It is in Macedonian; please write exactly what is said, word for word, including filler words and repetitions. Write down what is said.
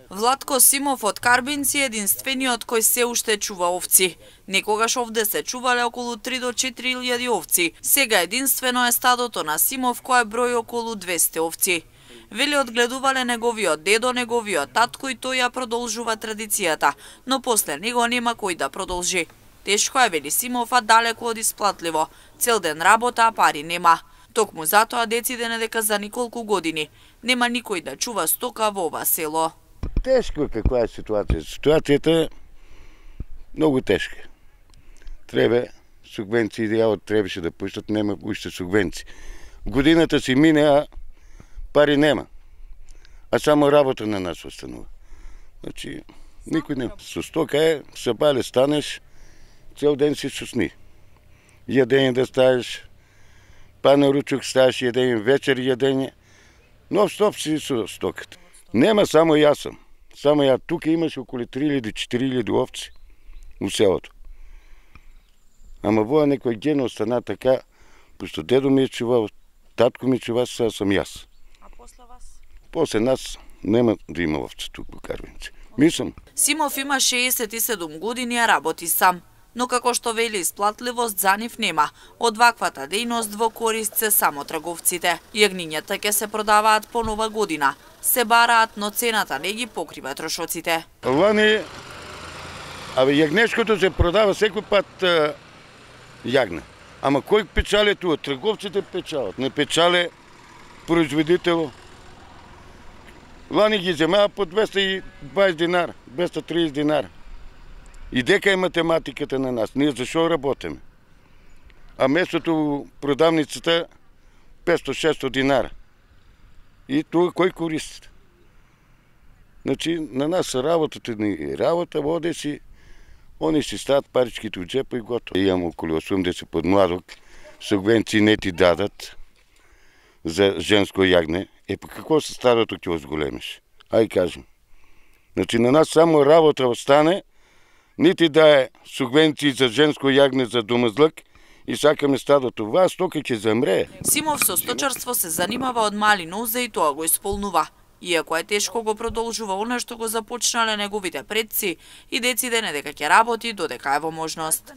Владко Симов од Карбинци е единствениот кој се уште чува овци. Некогаш овде се чувале околу три до четири илјади овци. Сега единствено е стадото на Симов кој брои околу двесте овци. Вели одгледувале неговиот дедо, неговиот татко и тој ја продолжува традицијата, но после него нема кој да продолжи. Тешко е, вели Симов, а далеку од исплатливо. Цел ден работа, а пари нема. Токму затоа децидене дека за неколку години нема никој да чува стока во ова село. Тешко е каква е ситуација. Ситуацијата е многу тешка. Треба субвенции, јавот требаше да пуштат, нема уште субвенции. Годината си мине, а пари нема. А само работа на нас останува. Значи, никој нема. Со стока е, сабале станеш, цел ден си сусни. Јадење да ставиш, па на ручок ставиш јадење, вечер јадење, но стоп си со стоката. Нема само јас сам. Само ја тука имаш околу три илјади до четири илјади овци у селото. Ама во некој ген остана така, пошто дедо ми е чувал, татко ми чува, сега сам јас. А после вас? После нас нема да има овци тук во Карбинци. Мислам. Симов има шеесет и седум години, а работи сам. Но како што вели, исплатливост за нив нема. Од ваквата дејност во корист се само трговците. Јагнињата ќе се продаваат по нова година. Се бараат, но цената не ги покрива трошоците. Лани, абе јагнешкото се продава секој пат а, јагне. Ама кој печале туа? Трговците печалат, не печале производител. Лани ги земаа по двеста и дваесет динара, двеста и триесет динара. И дека е математиката на нас, ние зашо работиме? А местото продавницата петстотини-шестстотини динара. И тоа кој користи? Значи, на нас работата ни е работа, воде си, они си стават паричките от джепа и готово. Имам около осумдесет подмладок, субвенции не ти дадат за женско јагне. Е, па какво се стадото ќе озголемиш? Ај кажем. Значи, на нас само работа остане, нити да е субвенции за женско јагне за домазлък и сакаме стадото. Вас тока ќе замре. Симов со сточарство се занимава од мали нозе и тоа го исполнува. Иако е тешко, го продолжува она што го започнале неговите предци и децидене дека ќе работи додека е во можност.